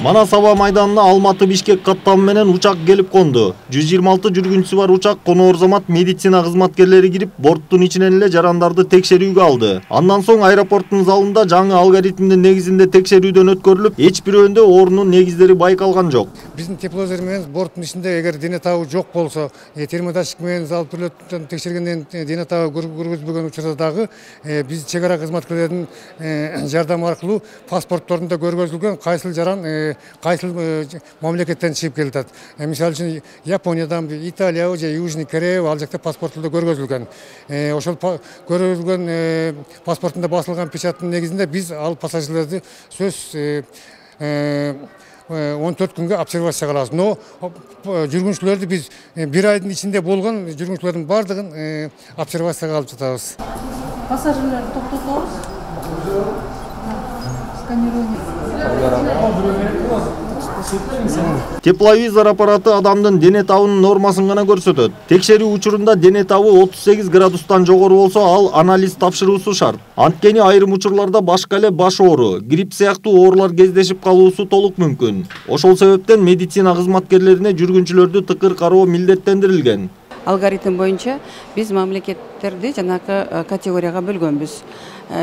Манас аба майданына Алматы-Бишкек каттамы менен учак келип конду. 126 жүргүнчүсү бар учак коноор замат медицина кызматкерлери кирип, борттун ичинен эле жарандарды текшерүүгө алды. Андан соң аэропорттун залында жаңы алгоритмдин негизинде текшерүүдөн өткөрүлүп, эч бирөөнүндө оорунун негиздери байкалган жок. Биздин тепловизор менен борттун ичинде эгер дене табы жок болсо, термоташик менен алып турулуп текшергенден дене табы көргөзбөгөн учурда дагы биз чек ара кызматкерлеринин жардамы аркылуу паспортторунда көргөзүлгөн кайсыл жаран кайсыл мамлекеттен чыгып келатат. Мисалы үчүн Япониядан, Италия же Южный Корея ал жакта паспортунда көргөзүлгөн. Ошол көргөзүлгөн паспортунда басылган печаттын негизинде биз ал пассажирлерди сөз 14 күнгө обсервацияга алабыз. Но жүргүнчүлөрдү биз бир айдын ичинде болгон жүргүнчүлөрдүн бардыгын обсервацияга алып жатабыз. Пассажирлерди токтотобуз. Сканирование. Тепловизор аппараты адамдын дене табынын нормасын гана көрсөтөт. Текшерүү учурунда дене табы 38 градустан жогору болсо, ал анализ тапшыруусу шарт. Анткени айрым учурларда башка эле баш оору, грипп сыяктуу оорулар кездешип калуусу толук мүмкүн. Ошол себептен медицина кызматкерлерине жүргүнчүлөрдү тыкыр кароо милдеттендирилген. Алгоритм боюнча биз мамлекеттерди жанакы категорияга бөлгөнбүз.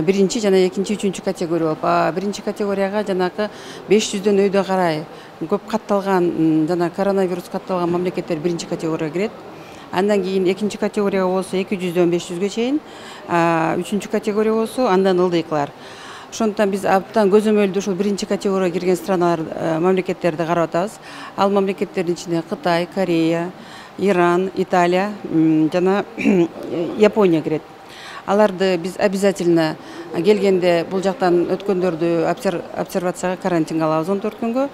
Биринчи жана экинчи, үчүнчү категория болуп, биринчи категорияга жанакы 500дөн өйдө карай көп катталган жана коронавирус катталган мамлекеттер биринчи категорияга кирет. Андан кийин экинчи категорияга болсо 200дөн 500ге чейин, үчүнчү категория болсо андан ылдыйкылар. Ошондуктан биз абдан көзөмөлдүү ушул биринчи категорияга кирген страналар, мамлекеттерди карап атабыз. Ал мамлекеттердин ичинде Кытай, Корея, Иран, Италия жана Япония кирет. Аларды биз обязательно келгенде бул жактан өткөндөрдү обсервацияга, карантинге алабыз 14 күнгө.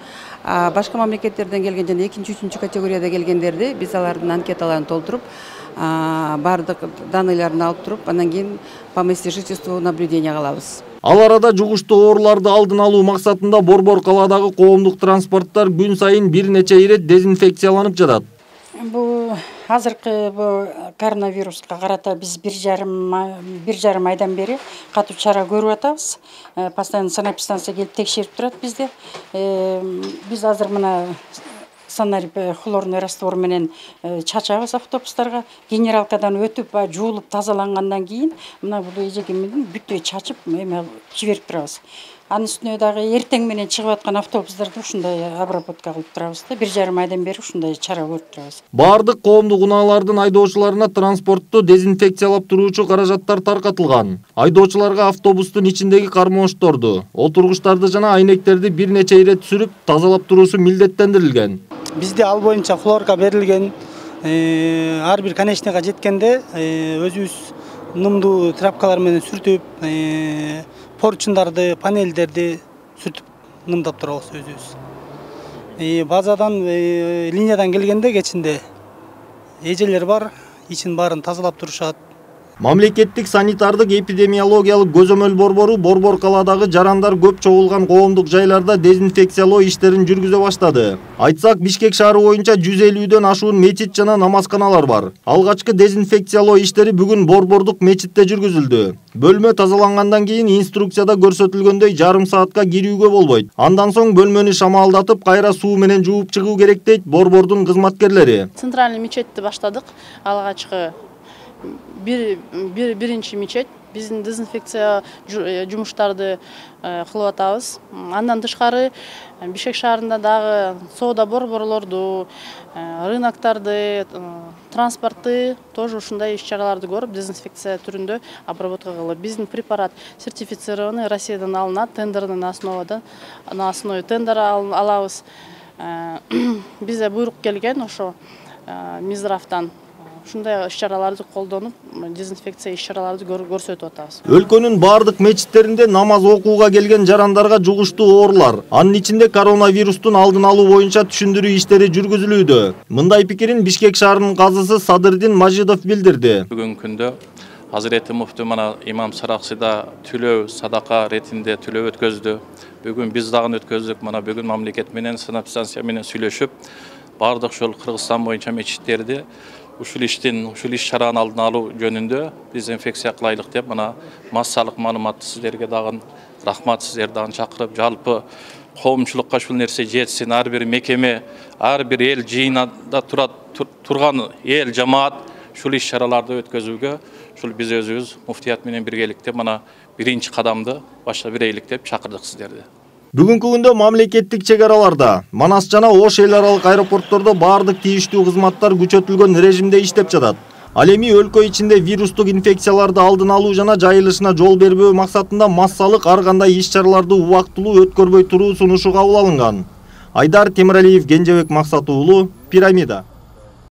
Башка мамлекеттерден келген жана экинчи, үчүнчү категорияда келгендерди биз алардын анкеталарын толтуруп, бардык данныйларын алып туруп, андан кийин по месту жительству наблюденияга алабыз. Ал арада жугуштуу ооруларды алдын алуу максатында Борбор калаадагы коомдук транспорттор күн сайын бир нече ирет дезинфекцияланып жатат. Бул азыркы коронавируска карата биз бир жарым айдан бери катуу чара көрүп атабыз. Постоянно санэпидстанция келип текшерип турат бизди. Биз азыр мына санарип хлорный раствор менен чачабыз автобустарга. Генералкадан өтүп, жуулуп, тазалангандан кийин мына бул эжеги менен бүтөй чачып, жиберип турабыз. Анын үстүнө дагы эртең менен чыгып аткан автобустарды ушундай обработка кылып турабыз да. Бир жарым айдан бери ушундай чара көрүп турабыз. Бардык коомдук унаалардын айдоочуларына транспортту дезинфекциялап туруучу каражаттар таркатылган. Айдоочуларга автобустун ичиндеги кармоошторду, отургучтарды жана айнектерди бир нече ирет сүрүп, тазалап туруусу милдеттендирилген. Бизде ал боюнча хлорка берилген. Ар бир конечныйга жеткенде өзүбүз нымдуу тряпкалар менен сүртүп, поручундарды, панелдерди сүртүп нымдап турабыз өзүбүз. Базадан, линиядан келгенде кечинде эжелер бар, ичин баарын тазалап турушат. Мамлекеттик санитардык эпидемиологиялык көзөмөл борбору Борбор калаадагы жарандар көп чогулган коомдук жайларда дезинфекциялоо иштерин жүргүзө баштады. Айтсак, Бишкек шаары боюнча 150дөн ашуун мечит жана намазканалар бар. Алгачкы дезинфекциялоо иштери бүгүн Борбордук мечитте жүргүзүлдү. Бөлмө тазалангандан кийин инструкцияда көрсөтүлгөндөй жарым саатка кирүүгө болбойт. Андан соң бөлмөнү шамалдатып, кайра суу менен жууп чыгуу керек дейт Борбордун кызматкерлери. Центральный мечетти баштадык. Алгачкы биринчи мечет биздин дезинфекция жумуштарды кылып атабыз. Андан тышкары Бишкек шаарында дагы соода борборлорду, рыноктарды, транспортты тоже ушундай иш-чараларды көрүп, дезинфекция түрүндө обработка кылып, биздин препарат сертифицированный, Россиядан алынат, тендердин на основе тендера алабыз. Бизде буйрук келген ошо Минздравдан. Ушундай иш-чараларды колдонуп, дезинфекция иш-чараларды көрсөтүп атабыз. Өлкөнүн бардык мечиттеринде намаз окууга келген жарандарга жугуштуу оорулар, анын ичинде коронавирустун алдын алуу боюнча түшүндүрүү иштери жүргүзүлүүдө. Мындай пикирин Бишкек шаарынын казысы Садырдин Мажидов билдирди. Бүгүнкү күндө Азирети муфти мана имам Сараксыда төлөө садака ретинде төлөө өткөздү. Бүгүн биз дагы өткөздүк. Мана бүгүн мамлекет менен санэпидстанция менен сүйлөшүп, бардык ушул Кыргызстан боюнча мечиттерди ушул иш-чараны алдын алуу жөнүндө дезинфекция кылайлык деп мына массалык маалыматты сиздерге дагы рахмат, сиздерди дагы чакырып, жалпы коомчулукка ушул нерсе жетсин, ар бир мекеме, ар бир эл жыйнада турган эл жамаат ушул иш-чараларды өткөзүүгө ушул биз өзүбүз муфтият менен биргеликте мына биринчи кадамды баштап берейlik деп чакырдык сиздерди. Бүгүнкү күндө мамлекеттик чек араларда, Манас жана Ош эл аралык аэропорттордо баардык тийиштүү кызматтар күчөтүлгөн режимде иштеп жатат. Ал эми өлкө ичинде вирустук инфекцияларды алдын алуу жана жайылышына жол бербөө максатында массалык ар кандай иш-чараларды убактылуу өткөрбөй туруу сунушу кабыл алынган. Айдар Темиралиев, Кенжебек Максат уулу, Пирамида.